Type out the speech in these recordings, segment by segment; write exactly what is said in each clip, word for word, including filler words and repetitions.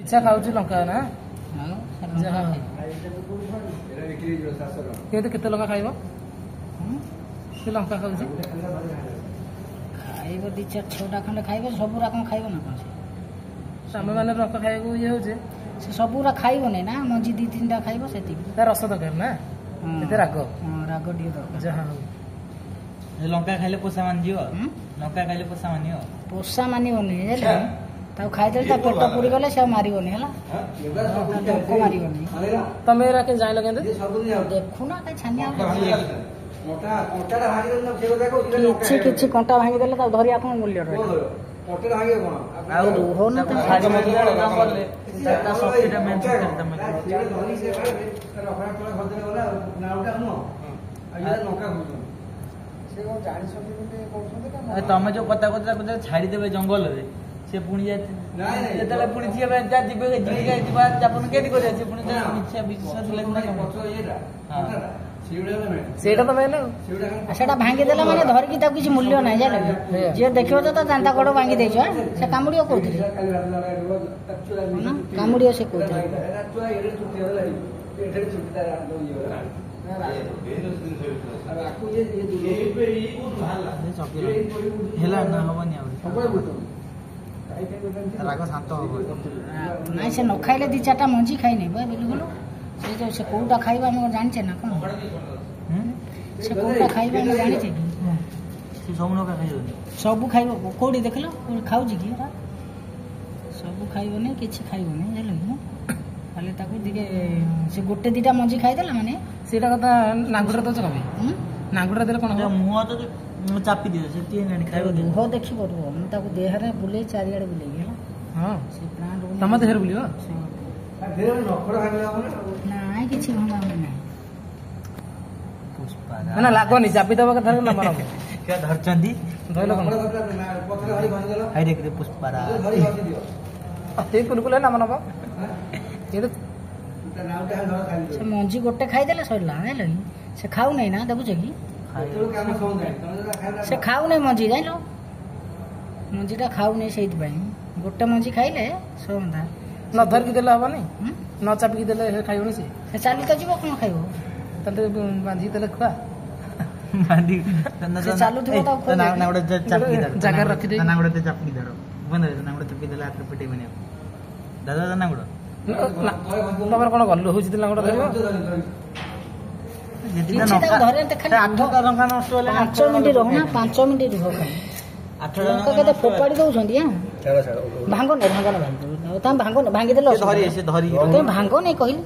ଇଚ୍ଛା ଖାଉଛି ଲଙ୍କା ନା ଆଉ ଯାହା ହଉ। କେତେ କେତେ ଲଙ୍କା ଖାଇବ ସେ ଲଙ୍କା ଖାଉଛି ଖାଇବ ଦି ଚାରି ଛଅଟା ଖଣ୍ଡେ ଖାଇବ ସବୁରା କଣ ଖାଇବ ନା କଣ ସେ ଆମେ ମାନେ ଲଙ୍କା ଖାଇବାକୁ ଇଏ ହଉଛେ ସେ ସବୁରା ଖାଇବନି ନା ମଞ୍ଜି ଦି ତିନିଟା ଖାଇବ ସେତିକି ତା ରସ ଦରକାର ନା ହଁ। ଏତେ ରାଗ ହଁ ରାଗ ଟିକେ ଦରକାର ଯାହା ହଉ ଲଙ୍କା ଖାଇଲେ ପୋଷା ମାନିଯିବ ହୁଁ? ଲଙ୍କା ଖାଇଲେ ପୋଷା ମାନିବ ପୋଷା ମାନିବନି ବୁଝିଲେ ତାକୁ ଖାଇଦେଲେ ତା ପେଟ ପୁରିଗଲେ ସେ ଆଉ ମାରିବନି ହେଲା ଡଙ୍କ ମାରିବନି ତମେ ଏରା କେମିତି ଜାଣିଲ କେମିତି ଦେଖୁନା କାଇଁ ଛାନିଆ ହଉଛ? କିଛି କିଛି କଣ୍ଟା ଭାଙ୍ଗିଦେଲେ ତାକୁ ଧରିବା କଣ ମୂଲ୍ୟ ରହିଲା ଆଉ ରୁହ ନା ତମେ ଛାଡି କଲେ ତା ଶକ୍ତିଟା ମେନ୍ ତମେ ଆରେ ତମେ ଯୋଉ କଥା କହୁଛ ତାକୁ ଯଦି ଛାଡିଦେବେ ଜଙ୍ଗଲରେ ସେ ପୁଣି ଯାଇ ଯେତେବେଳେ ପୁଣି ଯିବେ ଯା ଯିବେ ଯିବେ ଯିବା ଆପଣ କେମିତି କରିବେ ସେ ପୁଣି ମିଛ ବିଶ୍ୱାସ ଲାଗିଲା ହଁ ସେଇଟା ତ ମେନ୍ ଆଉ ଆଉ ସେଟା ଭାଙ୍ଗିଦେଲେ ମାନେ ଧରିକି ତାକୁ କିଛି ମୂଲ୍ୟ ନାହିଁ ଜାଣିଲ କି? ଯିଏ ଦେଖିବ ତ ତା ଦାନ୍ତ ଗୋଡ଼ ଭାଙ୍ଗି ଦେଇଛ ଆଁ? ସେ କାମୁଡ଼ିବ କୋଉଥିରେ ନା କାମୁଡ଼ିବ ସେ କୋଉଥିରେ ହେଲା ନା ହବନି ଆଉ ରାଗ ଶାନ୍ତ ହବ ନାଇଁ ସେ ନ ଖାଇଲେ ଦି ଚାରିଟା ମଞ୍ଜି ଖାଇନି ବା ବିଲକୁଲ ସେ ଯୋଉ ସେ କୋଉଟା ଖାଇବ ଆମେ କଣ ଜାଣିଛେ ନା କଣ ହୁଁ? ସେ କୋଉଟା ଖାଇବ ଆମେ ଜାଣିଛେ କି ସେ ସବୁ ଲଙ୍କା ଖାଇବନି ସବୁ ଖାଇବ କୋଉଠି ଦେଖିଲ କୋଉଠି ଖାଉଛି କି ଏରା? ସବୁ ଖାଇବନି କିଛି ଖାଇବନି ଜାଣିଲ କି ଖାଲି ତାକୁ ଟିକେ ସେ ଗୋଟେ ଦିଟା ମଞ୍ଜି ଖାଇଦେଲା ମାନେ ସେଇଟା କଥା ନାଙ୍ଗୁଡରେ ଦଉଛ କଣ ପାଇଁ ହୁଁ? ନାଙ୍ଗୁଡରେ ଦେଲେ କଣ ହବ ମୁହଁ ତ ଯୋଉ ଚାପି ଦିଅ ସେଠି ହେଲାଣି ଖାଇବ ରୁହ ଦେଖିବ ରୁହ ମୁଁ ତାକୁ ଦେହରେ ବୁଲେଇ ଚାରିଆଡେ ବୁଲେଇବି ହେଲା ହଁ ସେ ପ୍ଲାଣ୍ଟ ତମ ଦେହରେ ବୁଲିବ ନାଇଁ କିଛି ଭଙ୍ଗା ଭଙ୍ଗି ନାହିଁ ପୁଷ୍ପା ନା ନା ଲାଗନି ଚାପି ଦବ କଥା ନା ମର କିଏ ଧରିଛନ୍ତି ଧଇଲ କଣ ହାଇ ରେ ପୁଷ୍ପାରା ସେଇ କୁଲକୁଲ ନାମ ନବ କିନ୍ତୁ ସେ ମଞ୍ଜି ଗୋଟେ ଖାଇଦେଲେ ସରିଲା ଜାଣିଲ କି ସେ ଖାଉନାହିଁ ନା ଦେଖୁଛ କି ସେ ଖାଉନାହିଁ ମଞ୍ଜି ଜାଣିଲ ମଞ୍ଜିଟା ଖାଉନାହିଁ ସେଇଥିପାଇଁ ଗୋଟେ ମଞ୍ଜି ଖାଇଲେ ସରନ୍ତା ନ ଧରିକି ଦେଲେ ହବନି ହୁଁ? ନ ଚାପିକି ଦେଲେ ସେ ଖାଇବନି ସେ ସେ ଚାଲି ତ ଯିବ କଣ ଖାଇବ ତାହେଲେ ବାନ୍ଧିକି ଦେଲେ ଖୁଆ ବାନ୍ଧି ସେ ଚାଲୁଥିବ ତାକୁ ଖୋଇଦେବେ। ନା ଗୋଟେ ଚାପିକି ଧର ଜାଗାରେ ରଖିଦେଇ- ନା ଗୋଟେ ଚାପିକି ଧର ବନ୍ଦ ନା ଗୋଟେ ଚାପି ଦେଲେ ହାତରେ ପିଟେଇବନି ଆଉ ଦାଦା ଦାଦା ଗୋଡ଼ ନା, ତମର କଣ ଗଲୁ ହଉଛି ଲାଙ୍ଗୁଡ ଧରିବ ଯେତିକି କିଛି ତାକୁ ଧରିବା ଖାଲି ଆଠଟା ଲଙ୍କା ନଷ୍ଟ ହେଲେ ପାଞ୍ଚ ମିନିଟ୍ ରହୁନା ପାଞ୍ଚ ମିନିଟ୍ ରୁହ ଖାଲି ଆଠଟା ଲଙ୍କା କେତେ ଫୋପାଡ଼ି ଦଉଛନ୍ତି ଆଁ ଭାଙ୍ଗନି ଭାଙ୍ଗନି ଭାଙ୍ଗି ତମେ ଭାଙ୍ଗନି ଭାଙ୍ଗିଦେଲେ ସେ ଧରି ସେ ଧରି ତମେ ଭାଙ୍ଗନି କହିଲି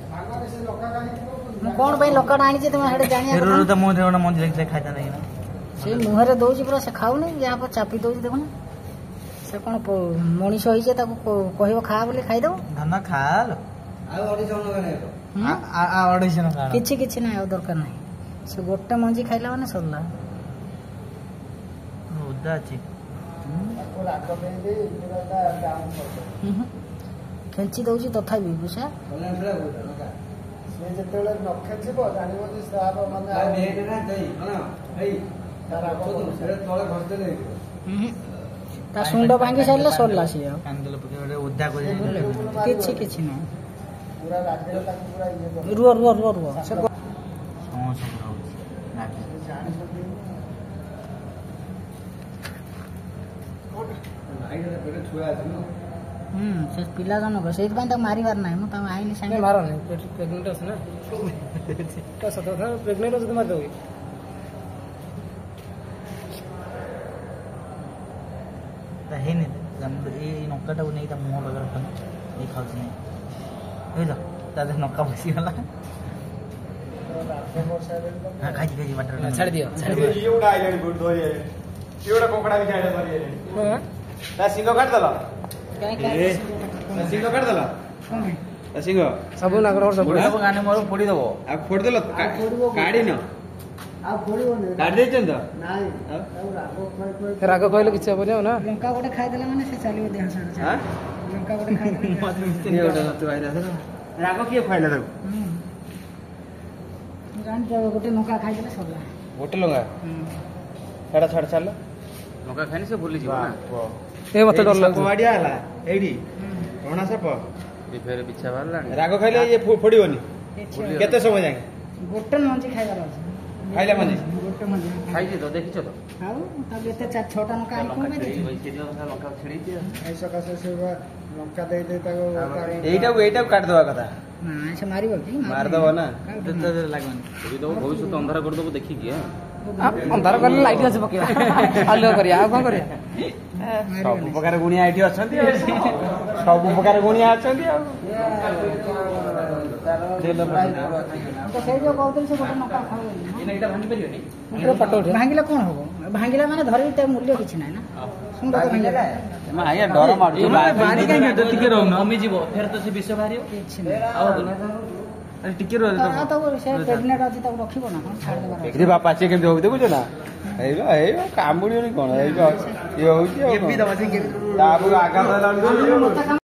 ମୁଁ କଣ ପାଇଁ ଲଙ୍କାଟା ଆଣିଛି ତମେ ସେଟା ଜାଣିବା କଥା ନା। ତ ମୁହଁରେ ଗୋଟେ ମଞ୍ଜି ଲାଗିଥିଲା ଖାଇତା ନାହିଁ ନା ସେ ମୁହଁରେ ଦଉଛି ପୁରା ସେ ଖାଉନି ଯାହା ପରେ ଚାପି ଦଉଛି ଦେଖୁନ ସେ କଣ ପ- ମଣିଷ ହେଇছে ତାକୁ କ- କହିବ ଖା ବୋଲି ଖାଇଦବ ଧନ ଖାଲ ହୁଁ? ଅଢେଇଶହ ଟଙ୍କା ଆଣ। କିଛି କିଛି ନାହିଁ ଆଉ ଦରକାର ନାହିଁ ସେ ଗୋଟେ ମଞ୍ଜି ଖାଇଲା ମାନେ ସରିଲା ଓଦା ଅଛି ହୁଁ ହୁଁ। ଖେଞ୍ଚି ଦଉଛି ତଥାପି ବୁଝା ସେ ଯେତେବେଳେ ନ ଖେଞ୍ଚିବ ଜାଣିବ ଯେ ତାର ମାନେ ତାର ରାଗ ହୁଁ ହୁଁ। ତା ଶୁଣ୍ଡ ଭାଙ୍ଗି ସାରିଲେ ସରିଲା ସିଏ ଆଉ କାନ ଦେଲେ ପକେଇ ଗୋଟେ ଓଦା କରି କିଛି କିଛି ନାହିଁ ପୁରା ରାଗରେ ତାକୁ ପୁରା ଇଏ କରିଦେବ। ରୁହ ରୁହ ରୁହ ରୁହ ସେ ସମସ୍ତ ରହୁଛି ରାଗ। ସେ ଜାଣିଛନ୍ତି ହୁଁ ସେ ପିଲା ଜଣକ ସେଇଥିପାଇଁ ତାକୁ ମାରିବାର ନାହିଁ ମୁଁ ତାକୁ ଆଇଲି ସାଙ୍ଗେ ମାରନି ପ୍ରେଗନେଣ୍ଟ ଅଛି ନା ସତ କଥା ପ୍ରେଗନେଣ୍ଟ ଅଛି ତ ମାରିଦେବ କି ତା ହେଇନି ତା ମୁଣ୍ଡ- ଏଇ ଏଇ ଲଙ୍କାଟାକୁ ନେଇ ତା ମୁହଁ ପାଖରେ ରଖନି ଏଇ ଖାଉଛି ନାଇଁ ବୁଝିଲ ତା ଦେହରେ ଲଙ୍କା ପଶିଗଲା ରାଗ ବର୍ଷାରେ ହଁ ଖାଇଛି ଖାଇଛି ବାଟରେ ନା, ଛାଡ଼ି ଦିଅ ଛାଡ଼ି ଦିଅ ଇଏ ଗୋଟେ ଆଇଲାଣି କୋଉଠି ଧରି ଆଇଲାଣି ଇଏ ଗୋଟେ କଙ୍କଡା ବି ଆଇଲା ଧରି ଆଇଲାଣି ହଁ। ତା ଶିଙ୍ଗ କାଟିଦେଲ କାଇଁ କାଇଁ ତା ଶିଙ୍ଗ କାଟିଦେଲ ତା ଶିଙ୍ଗ ସବୁ ନାଗର ସବୁ ପୋଡ଼ିଦବ ଗାନେ ମୋର ପୋଡ଼ିଦବ ଆଉ ଫୋଡ଼ିଦେଲ କାଢିନ ଆଉ ଫୋଡ଼ିବନି କାଢି ଦେଇଛନ୍ତି ତ ନାଇଁ ଆଉ? ତାକୁ ରାଗ ଖୁଆଇ ଖୁଆଇ ରାଗ କହିଲେ କିଛି ହବନି ଆଉ ନା ଲଙ୍କା ଗୋଟେ ଖାଇଦେଲେ ମାନେ ସେ ଚାଲିବ ଦେହ ସାରା ଆଁ? ଲଙ୍କା ଗୋଟେ ଖାଇଦେଲେ ଇଏ ଗୋଟେ ନତୁ ଆଇଲା ଧର। ରାଗ କିଏ ଖୁଆଇଲା ତାକୁ ହୁଁ ଜାଣିଛ ଗୋଟେ ଲଙ୍କା ଖାଇଦେଲେ ସରିଲା ଗୋଟେ ଲଙ୍କା ହୁଁ ଛାଡ ଛାଡ ଛାଡ ଲଙ୍କା ଖାଇନି ସେ ଭୁଲିଯିବ ନା ଏ ମତେ ଡର ସାପ ଲାଗୁଛି ବାଡିଆ ହେଲା ଏଇଠି ରଣା ସାପ ବି ଫେରେ ବିଛା ବାହାରିଲାଣି। ରାଗ ଖାଇଲେ ଇଏ ଫୋ- ଫୋଡିବନି? କିଛି ହବନି। କେତେ ସମୟ ଯାଏ? ଗୋଟେ ମଞ୍ଜି ଖାଇବାର ଅଛି। ଖାଇଲା ମଞ୍ଜି? ଗୋଟେ ମଞ୍ଜି। ଖାଇଛି ତ, ଦେଖିଛ ତ? ଆଉ ତାକୁ ଏତେ ଚାରି ଛଅଟା ଲଙ୍କା ଆଣି କଣ ଲଙ୍କା ପାଇଁ ଛିଡେଇ ଦେଇଛୁ? ସେଇଦିନ ଲଙ୍କା ଛିଡେଇଛି ଆଉ। ଏଇ ସକାଶେ ସେ ବା ଲଙ୍କା ଦେଇ ଦେଇ ତାକୁ ତାର- ଏଇଟାକୁ ଏଇଟାକୁ କାଟିଦବା କଥା। ନା, ସେ ମାରିବ କି? ମାରିଦବ ନା। କାହାକୁ ମାରିବ? ଲାଗନି। ଯଦି ତମ ଭବିଷ୍ୟତ ଅନ୍ଧାର କରିଦବ ଦେଖିକି ଆଁ। ଅନ୍ଧାର କଲେ ଲାଇଟ୍ ଅଛି ପକେଇବା, ଆଲୁଅ କରିବା, ଆଉ କଣ କରିବା? ସବୁ ପ୍ରକାର ଗୁଣିଆ ଏଠି ଅଛନ୍ତି ଆଉ। ସବୁ ପ୍ରକାର ଗୁଣିଆ ଅଛନ୍ତି ଆଉ। ତ ସେଇ ଯୋଉ କହୁଥିଲି, ସେ ଗୋଟେ ଲଙ୍କା ଖାଇବନି। ଏଇଟା ଭାଙ୍ଗି ପାରିବନି। ପୁରା ଫଟୋ ଉଠେଇବା। ଭାଙ୍ଗିଲେ କଣ ହବ? ଭାଙ୍ଗିଲା ମାନେ ଧରିକି ତା ମୂଲ୍ୟ କିଛି ନାହିଁ ନା। ଶୁଣ ତ, ଭାଙ୍ଗିଲା ଆଜ୍ଞା, ଡର ମାଡୁଛି। ବାରି କାହିଁକି? ଟିକେ ରହୁନ, କମିଯିବ ଫେର ତ ସେ ବିଷ ବାହାରିବ। କିଛି ନାହିଁ। ଆଉ ହବନି। ଟିକେ ରୁହ। ଆଉ ତାକୁ ସେ ପ୍ରେଗନେଣ୍ଟ ଅଛି, ତାକୁ ରଖିବ ନା କଣ? ଛାଡ଼ିଦେବାର ଅଛି। ଏଠି ବାପା, ସିଏ କେମିତି ହଉଛି ଦେଖୁଛ ନା? ଏଇବା ଏଇବା କାମୁଡିବନି କଣ? ଏଇବା ଇଏ ହଉଛି ଆଉ କଣ? ତାପରେ ଆଘାତ ହେଲା ବେଳକୁ ମତେ କାମ